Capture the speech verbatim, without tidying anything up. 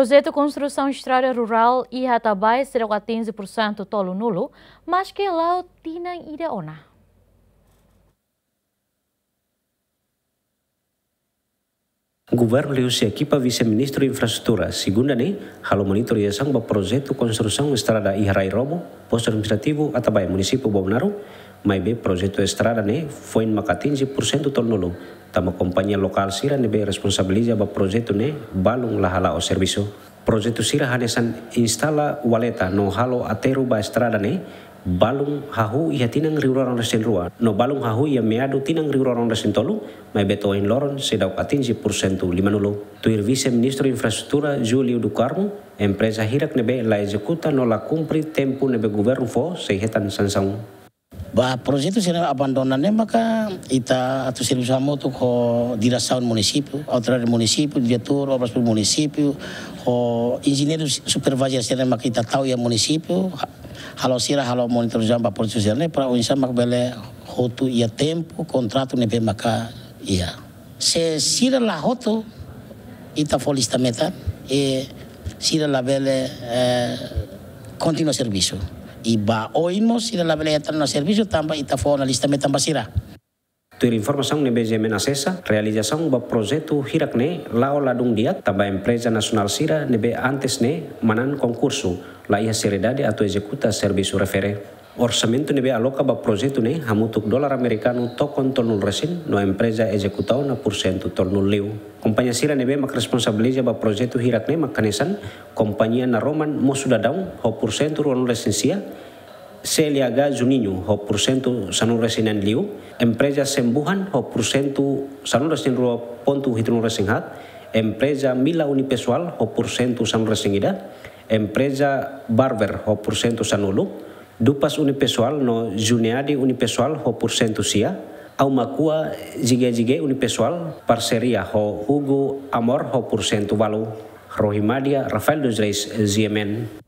Projetu konstrusaun estrada rurál iha Atabae seidauk atinje pursentu tolunulu, maske la'o tinan ida ona. Governu liuhusi ekipa Vise-Ministru Infraestrutura, segunda ne'e, halo monitorizasaun ba projetu konstrusaun estrada iha Rai Robo, Postu Administrativu Atabae, Munisípiu Bobonaro, maibé projetu estrada ne'e foin maka atinje pursentu tolunulu, tanba kompañia lokál sira ne'ebé responsabiliza ba projetu ne'e balun la hala'o servisu. Projetu sira hanesan instala valeta no halo aterru ba estrada ne'e, balun hahú iha tinan rihun rua ruanulu-resin-rua, no balun hahú iha meadu tinan rihun rua ruanulu-resin-tolu, maibé to'o ohin loron seidauk atinje pursentu limanulu. Tuir Vise-Ministru Infraestrutura, Júlio do Carmo, empreza hirak ne'ebé la ezekuta no la kumpre tempu ne'ebé governu fó sei hetan sansaun. Ba projetu sira abandona ne'e maka ita atu servisu hamutuk ho diresaun munisípiu, autoridade munisípiu, diretór obras públikas munisípiu, ho enjeñeiru supervisor sira maka ita tau iha munisípiu, ha-, halo sira halo monitorizasaun ba projetu sira ne'e para oinsá maka bele hotu iha tempu kontratu ne'ebé maka iha. Se sira la hotu, ita fó lista metan, i sira labele, eh, kontinua servisu. I ba oin mós sira labele hetan ona servisu tanba ita fó ona lista metan ba sira. Tuir informasaun ne'ebé GMN asesa, realizasaun ba projetu hirak ne'e la'o ladún di'ak, tanba empreza nasionál sira ne'ebé antes ne'e manán konkursu, la iha seriedade atu ezekuta servisu refere. Orsamentu ne'ebé aloka ba projetu ne'e hamutuk dolar amerikanu tokon tolunulu-resin no empreza ezekuta ona pursentu tolunulu-liu. Kompañia sira ne'ebé mak responsabiliza ba projetu hirak ne'e mak hanesan kompañia naroman Mosu Dadaun ho pursentu ruanulu-resin-sia, C L H Juninho ho pursentu sanulu-resin-neen-liu, empreza Sembuhan ho pursentu sanulu-resin-rua pontu hitunulu-resin-haat, empreza Mila Unipessoal ho pursentu sanulu-resin-ida, empreza Barber ho pursentu sanulu, Dupas Unipessoal no Juneade Unipessoal ho pursentu sia, Aumakua Jige Jige Unipessoal parseria ho Hugo Amor ho pursentu ualu. Rohimadia Rafael dos Reis, GMN.